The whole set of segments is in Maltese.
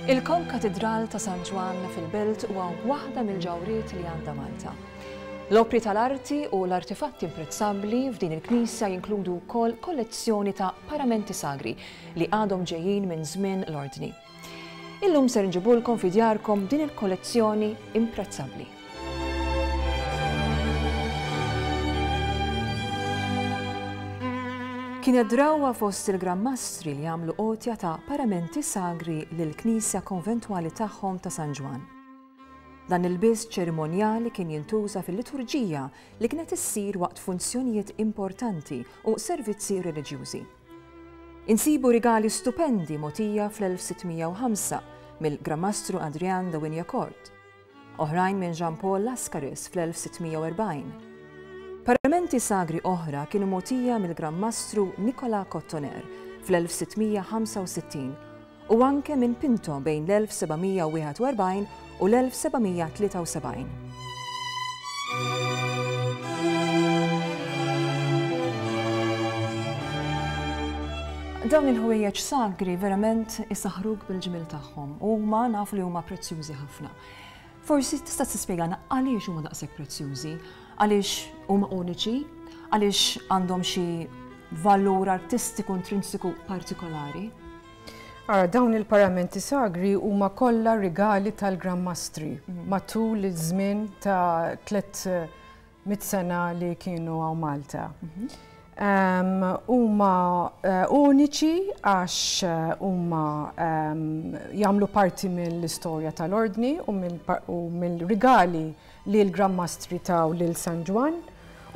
Il-Konkatidral ta' San Ġwann fil-Belt huwa waħda mill-ġawhriet li għandha Malta. L-opri tal-arti u l-artifatti imprezzabbli f'din il-knisja jinkludu wkoll kollezzjoni ta' paramenti sagri li għadhom ġejjin minn żmien l-Ordni. Illum ser nġibulkom fi djarkom din il-kollezzjoni imprezzabbli. Kienet drawwa fost il-Gran Mastri li jagħmlu għotja ta' paramenti sagri lill-knisja konventwali tagħhom ta' San Ġwann. Dan il-lbies ċerimonjali kien jintuża fil-liturġija li kienet issir waqt funzjonijiet importanti u servizzi reliġjużi. Insibu rigali stupendi mogħtija fl-1605 mill-Gran Mastru Adrian de Wignacourt. Oħrajn minn Jean Paul Lascaris fl-1640. Paramenti sagri oħra kienu mogħtija mill-Gran Mastru Nicolas Cotoner fl-1665 u anke minn Pinto bejn l-1741 u l-1773. Dawn il-ħwejjeġ sagri verament isaħħruk bil-ġmiel tagħhom u huma nafu li huma prezzjużi ħafna. Forsi tista' tispjegana għaliex huma daqshekk prezzjużi, għaliex huma uniċi, għaliex għandhom xi valur artistiku intrinsiku partikolari? Ara, dawn il-paramenti sagri huma kollha rigali tal-Gran Mastri mhm. matul iż-żmien ta' 300 sena li kienu hawn Malta. Mhm. Huma uniċi għax huma jagħmlu parti mill-istorja tal-Ordni u mill-rigali li l-Gran Mastri taw lil San Ġwann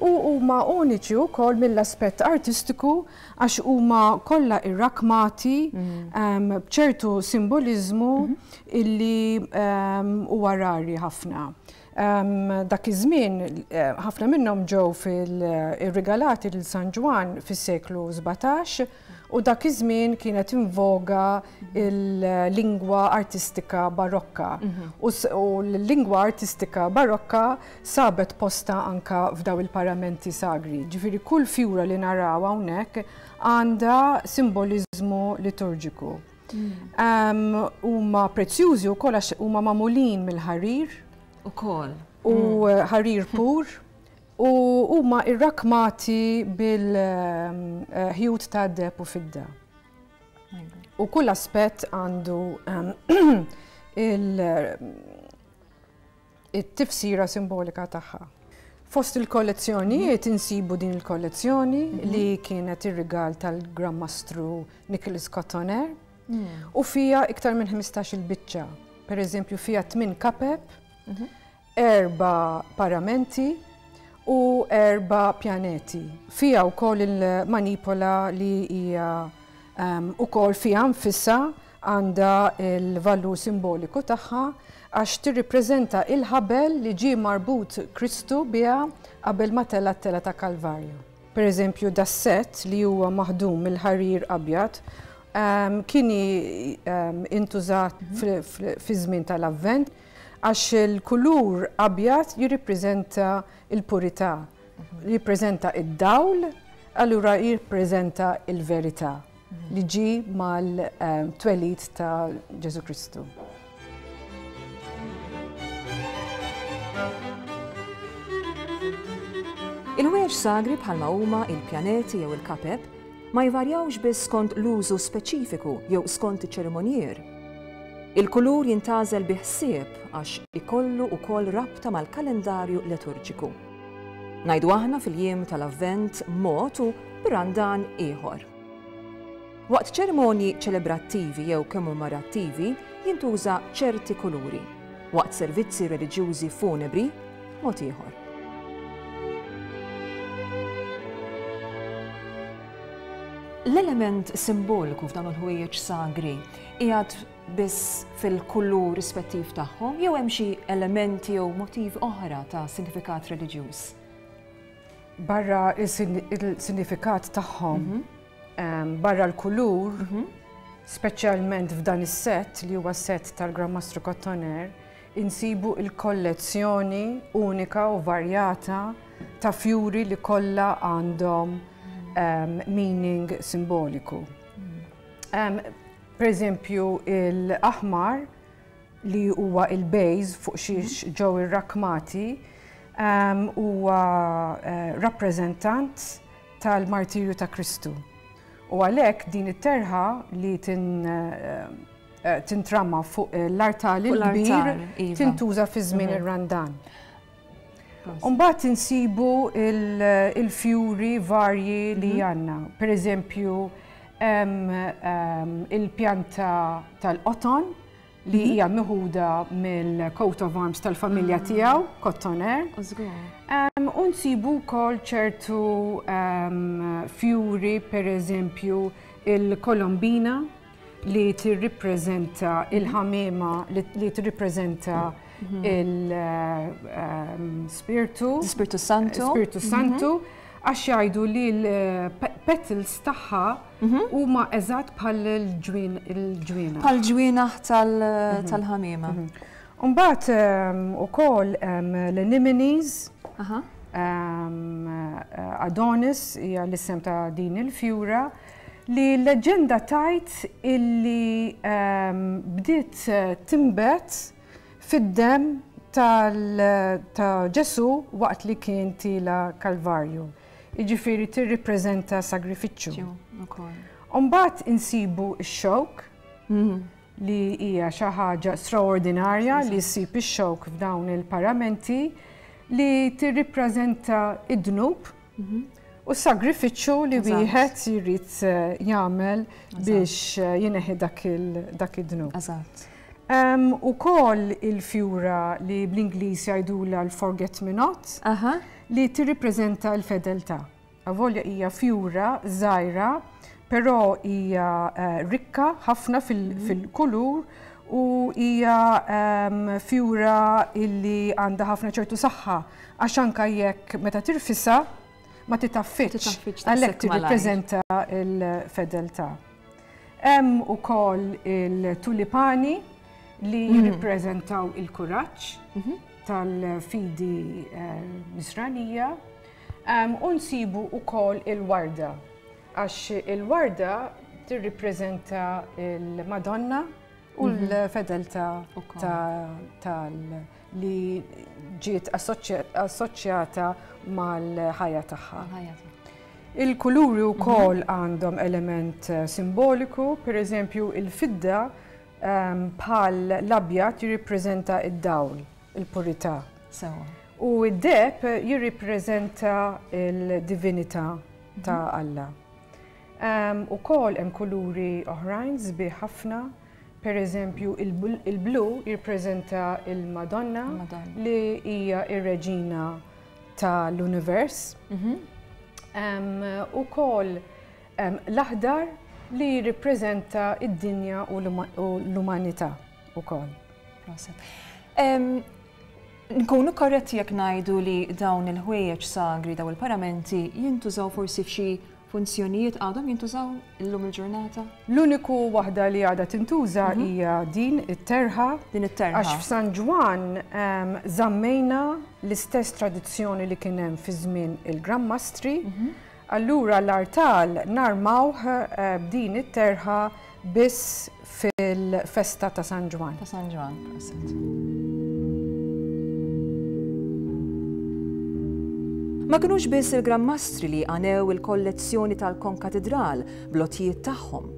u huma uniċi wkoll mill-aspett artistiku għax huma kollha irrakmati b'ċertu simboliżmu illi huwa rari ħafna. Dak iż-żmien ħafna minnhom ġew fil-irrigalati lil San Ġwann fis-seklu 17 u dak iż-żmien kienet in voga l-lingwa artistika barokka. U l-lingwa artistika barokka sabet postha anka f'daw il-paramenti sagri. Ġifieri kull fjura li naraw hawnhekk għandha simboliżmu liturġiku. Huma prezzjużi wkoll għax huma magħmulin mill-ħarir. Ukoll. U mm. ħarir pur. U huma irrakmati bil-ħjut ta' deb u fidda. U kull aspett għandu il- it-tifsira simbolika tagħha. Fost il-kollezzjonijiet insibu din il-kollezzjoni mhm. li kienet ir-rigal tal-Gran Mastru Nicholas Cotoner mm. u fija iktar minn 15 il-biċċa. Per eżempju fija 8 kapep, mhm. erba paramenti u erba pjaneti. Fija wkoll il-manipola li hija um, ukoll fija nfisha Għandha l-valur simboliku tagħha għax tirrippreżenta il-ħabel li ġie marbut Kristu biha qabel ma tela' t-telgħa ta' Kalvarju. Per eżempju, das-sett li huwa maħdum mill-ħarir abjad kien intużat fiż-żmien tal-Avvent għax il-kulur abjad jirrippreżenta l-purità, jirrippreżenta d-dawl, allura jirrippreżenta l-verità. li ġie mal-twelid ta' Ġesù Kristu. Il-ħwejjeġ sagri bħalma huma il-pjaneti jew il-kapep ma jvarjawx biss skont l-użu speċifiku jew skont iċ-ċerimonjier. Il-kulur jintgħażel bi ħsieb għax ikollu wkoll rabta mal-kalendarju liturġiku. Ngħidu aħna fil-jiem tal-Avvent mod u bir-Randan ieħor. Waqt ċerimonji ċelebrattivi jew kemmorattivi jintuża ċerti kuluri, waqt servizzi reliġjużi funebri mod ieħor. L-element simboliku f'dawn il-ħwejjeġ sagri qiegħed biss fil-kulur rispettiv tagħhom jew hemm xi elementi jew motivi oħra ta' sinifikat reliġjuż? Barra il-sinifikat tagħhom, mhm. barra l-kulur, mhm. speċjalment f'dan is-sett li huwa sett tal-Gran Mastru Cotoner, insibu il-kollezzjoni unika u varjata ta' fjuri li kollha għandhom meaning simboliku. Mhm. Per eżempju, l-aħmar li huwa il-base fuq xiex mhm. ġew irrakmati huwa eh, rappreżentant tal-martirju ta' Kristu. U għalhekk din it-terħa li tin eh, eh, tintrama fuq l-artal il-kbir iva. tintuża fi żmien mhm. ir-Randan. Umbagħad insibu il-fjuri varji li mhm. għandna. Per eżempju, il-pjanta tal-qoton li mhm. hija meħuda mill-coat of arms tal-familja ah. tiegħu, Cotoner. U nsibu wkoll ċertu fjuri, per eżempju, il-kolombina li tirrippreżenta il-ħamiema li tirrippreżenta mhm. il-Spirtu. Spirtu Santu. Spirtu Santu. Mhm. Għax jgħidu li l-petals tagħha mhm. huma eżatt bħal il-ġwienaħ. Bħal ġwienaħ tal-ħamiema. Mbagħad ukoll l-anemones. Adonis hija l-isem ta' din il-fjura. Li l-leġġenda tgħid illi bdiet tinbet fid-demm ta' Ġesù waqt li kien tiela' Kalvarju. Jiġifieri tirrippreżenta sagrifiċċju. U mbagħad insibu x-xewk li hija xi ħaġa straordinarja li ssib ix-xewk f'dawn il-paramenti li tirrippreżenta d-dnub U s-sagrifiċċju li wieħed jrid eh, jagħmel biex eh, jineħi dak id-dnub. Eżatt. U kol il-fjura li bl-Ingliż jgħidula l-forget me not, li tirripreżenta l-fedeltà. Avolja hija fjura żgħira, però hija eh, rikka ħafna mhm. fil-kulur u hija fjura illi għandha ħafna ċertu saħħa Għax anka jekk meta tirfisha ma titaffiċ, għalhekk tirrippreżenta l-fedeltà. Hemm ukoll il-tulipani li mhm. jirrippreżentaw il-kuraġġ mhm. tal-fidi eh, nisranija. U nsibu ukoll il-warda, għax il-warda tirrippreżenta il-Madonna u mhm. l-fedeltà tal li ġiet assoċjata mal-ħajja tagħha. Il-kuluri wkoll mhm. għandhom element eh, simboliku, per eżempju il-fidda ehm, bħal l-abjad jirrippreżenta id-dawl, il-purità. U id-deb jirrippreżenta l-divinità ta' mhm. Alla. Ehm, ukoll hemm kuluri oħrajn sbieħ ħafna Per eżempju, il-blu jirpreżenta il-Madonna li hija ir-reġina tal-univers. Mhm. Ukoll l-aħdar li jirrippreżenta id-dinja u l-umanità ukoll. Nkunu korretti jekk ngħidu li dawn il-ħwejjeġ sagri, dawn il-paramenti jintużaw forsi f'xi Funzjonijiet għadhom jintużaw illum il-ġurnata? L-uniku waħda li għadha tintuża mhm. hija din it-terħa. Din it-terħa. Għax f'San Ġwann ehm, żammejna l-istess tradizzjoni li kien hemm fi żmien il-Gran Mastri. Mhm. Allura l-artal narmawh eh, b'din it-terħa biss fil-festa ta' San Ġwann. Ta' San Ġwann, proset. Ma kinux biss il-Gran Mastri li għanew il-kollezzjoni tal-Konkatidral bl-għotjiet tagħhom.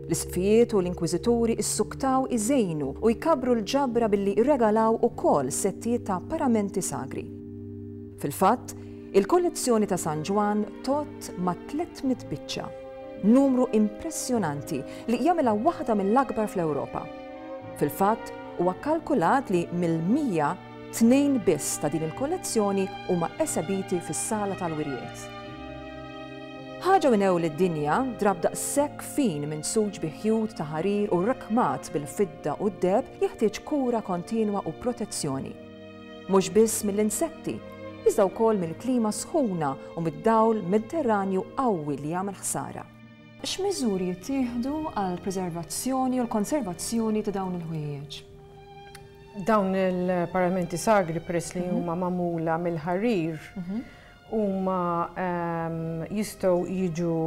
L-isqfijiet u l-inkwiżituri issuktaw iżejnu u jkabbru l-ġabra billi rregalaw ukoll settijiet ta' paramenti sagri. Fil-fatt, il-kollezzjoni ta' San Ġwann tgħodd mat-300 biċċa. Numru impressjonanti li jagħmilha waħda mill-akbar fl-Ewropa. Fil-fatt, huwa kkalkulat li mill-100, tnejn biss ta' din il-kollezzjoni huma esebiti fis-sala tal-wirjiet. Ħaġa minn ewl id-dinja, drapp daqshekk fin minsuġ bi ħjut ta' ħarir u rrakkmat bil-fidda u d-deheb jeħtieġ kura kontinwa u protezzjoni. Mhux biss mill-insetti, iżda wkoll mill-klima sħuna u mid-dawl Mediterranju qawwi li jagħmel ħsara. X'miżuri jittieħdu għall-preservazzjoni u l-konservazzjoni ta' dawn il-ħwejjeġ? Dawn il-paramenti sagri peress li huma magħmula mill-ħarir huma jistgħu jiġu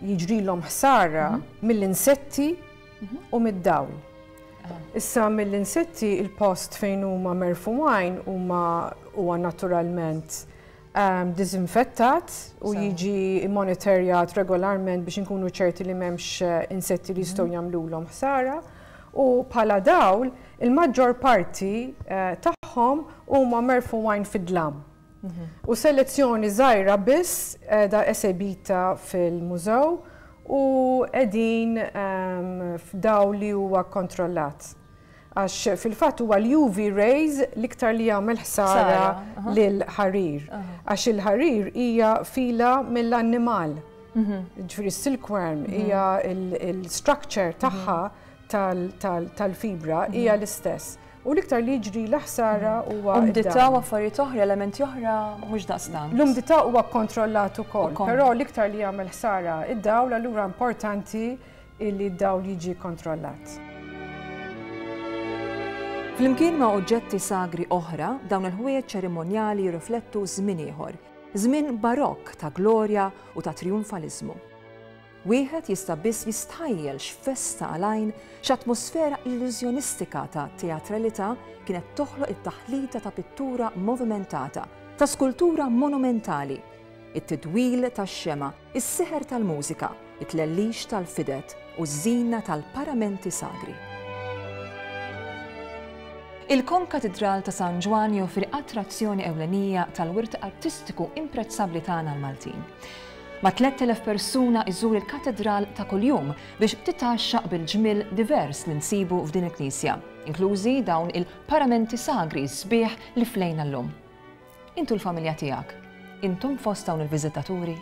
jiġrilhom ħsara mill-insetti u mid-dawl. Issa mill-insetti il-post fejn huma merfugħin huma huwa naturalment diżinfettat u jiġi monitorjat regolarment biex inkunu ċerti li m'hemmx insetti li jistgħu jagħmlulhom ħsara. U bħala dawl, il-maġġor parti tagħhom huma merfugħin fid-dlam. U selezzjoni żgħira biss qiegħda esebita fil-mużew u qegħdin f'dawl li huwa kkontrollat. Għax fil-fatt huwa l-UV rays l-iktar li jagħmel ħsara lill-ħarir. Għax il-ħarir hija fila mill-annimal. Ġifieri s-silkworm hija l-structure tagħha tal-fibra hija l-istess. U l-iktar li jiġri ħsara huwa. Umdità u affarijiet oħra, elementi oħra mhux daqstant. L-umdità huwa kontrollat ukoll, però l-iktar li jagħmel ħsara id-dawl allura importanti illi d-dawl jiġi kontrollat. Flimkien ma' oġġetti sagri oħra, dawn il-ħwejjeġ ċerimonjali jirriflettu żmien ieħor, żmien barokk ta' glorja u ta' trijunfaliżmu. Wieħed jista' biss jistħajjel x'festa għal-għajn, x'atmosfera illużjonistika ta' teatralità kienet toħloq it-taħlita ta' pittura movimentata, ta' skultura monumentali, it-tidwil tax-xemgħa, is-seħer tal-mużika, it-tlellix tal-fidet u ż-żina tal-paramenti sagri. Il-Konkatidral ta' San Ġwann joffri attrazzjoni ewlenija tal-wirt artistiku imprezzabbli tagħna l-Maltin. Ma' 3,000 persuna iżur il-katedral ta' kuljum biex titgħaxxaq bil-ġmiel divers li nsibu f'din il-knisja, inklużi dawn il-paramenti sagri sbieħ li flejna llum. Int u l-familja tiegħek, intom fost dawn il-viżitaturi?